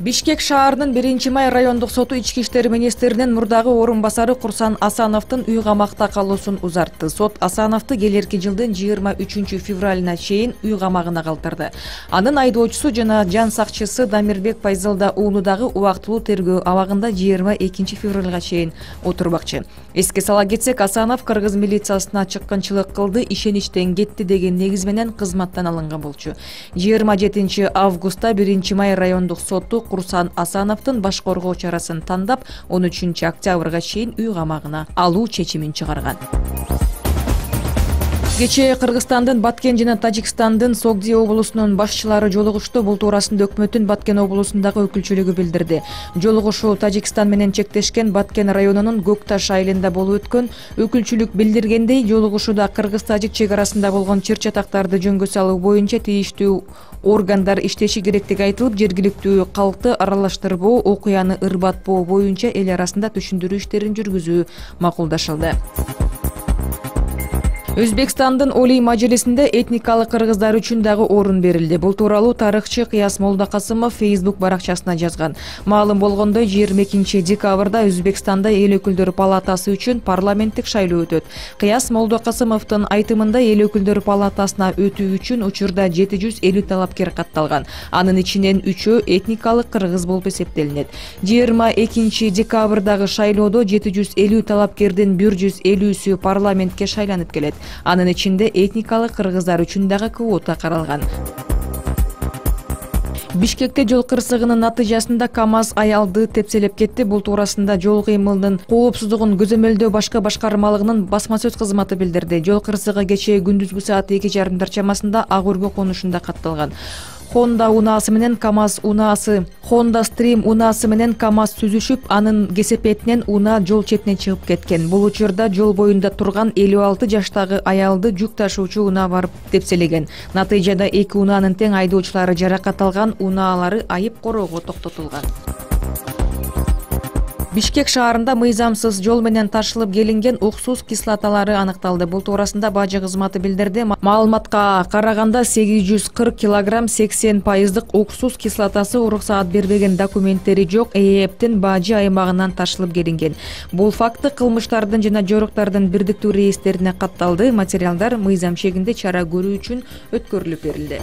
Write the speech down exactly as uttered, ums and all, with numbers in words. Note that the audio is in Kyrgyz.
Бишкек шаарынын биринчи май райондук соту ички иштер министринин мурдагы орун басары Курсан Асановдун үй камакта калуусун узартты. Сот Асановду келерки жылдын жыйырма үчүнчү февралына чейин үй камагына калтырды. Анын айдоочусу жана жан сакчысы Дамирбек Пайзалда уулу дагы убактылуу тергөө абагында жыйырма экинчи февралга чейин отурбакчы. Эске сала кетсек, Асанов кыргыз милициясына чыккынчылык кылды, ишеничтен кетти деген негиз менен кызматтан алынган болчу. жыйырма жетинчи августта биринчи май райондук соту Курсан Асановдун баш коргоо чарасын тандап, он үчүнчү октябрга чейин үй камагына алуу чечимин чыгарган. Кечээ Кыргызстандын Баткен жана Тажикстандын Согди облусунун башчылары жолугушту. Бул туурасында өкмөттүн Баткен облусундагы өкүлчүлүгү билдирди. Жолугушуу Тажикстан менен чектешкен Баткен районунун Көкташ айылында болуп өткөн. Өкүлчүлүк билдиргендей, жолугушууда кыргыз-тажик чек арасында болгон чыр чатактарды жөнгө салуу боюнча тийиштүү органдар иштеши керектиги айтылып, жергиликтүү калкты аралаштырбоо, окуяны ырбатпоо боюнча эл арасында түшүндүрүү иштерин жүргүзүү макулдашылды. Өзбекстандын Олий Мажлисинде этникалык кыргыздар үчүн дагы орун берилди. Бул тууралуу тарыхчы Кыяс Молдокасымов Facebook баракчасына жазган. Маалым болгондой, жыйырма экинчи декабрда Өзбекстанда эл өкүлдөр палатасы үчүн парламенттик шайлоо өтөт. Кыяс Молдокасымовдун айтымында эл өкүлдөр палатасына өтүү үчүн учурда жети жүз элүү талапкер катталган. Анын ичинен үчөө этникалык кыргыз болуп эсептелинет. жыйырма экинчи декабрдагы шайлоодо жети жүз элүү талапкердин бир жүз элүүсү парламентке шайланып келет. Анын ичинде этникалык кыргыздар үчүн дагы квота каралган. Бишкекте жол кырсыгынын натыйжасында КАМАЗ аялды тепселеп кетти. Бул туурасында жол кыймылынын коопсуздугун көзөмөлдөө башка башкармалыгынын басма сөз кызматы билдирди. Жол кырсыгы кечээ күндүзгү саат эки жарымдар чамасында Ак Өргө конушунда катталган. Honda унаасы менен КАМАЗ унаасы, Honda Stream унаасы менен КАМАЗ сүзүшүп, анын кесепетинен унаа жол четине чыгып кеткен. Бул учурда жол боюнда турган элүү алты жаштагы аялды жүк ташуучу унаа барып тепселеген. Натыйжада эки унаанын тең айдоочулары жаракат алган, унаалары айып короого токтотулган. Бишкек шаарында мыйзамсыз жол менен ташылып келинген уксус кислоталары аныкталды. Бул туурасында бажы кызматы билдирди. Маалыматка караганда сегиз жүз кырк килограмм сексен пайыздык уксус кислотасы уруксаат бербеген документтери жок ЭЭПтин бажы аймагынан ташылып келинген. Бул факты кылмыштардын жана жоруктардын бирдиктүү реестрине катталды. Материалдар мыйзам чегинде чара көрүү үчүн өткөрүлүп берилди.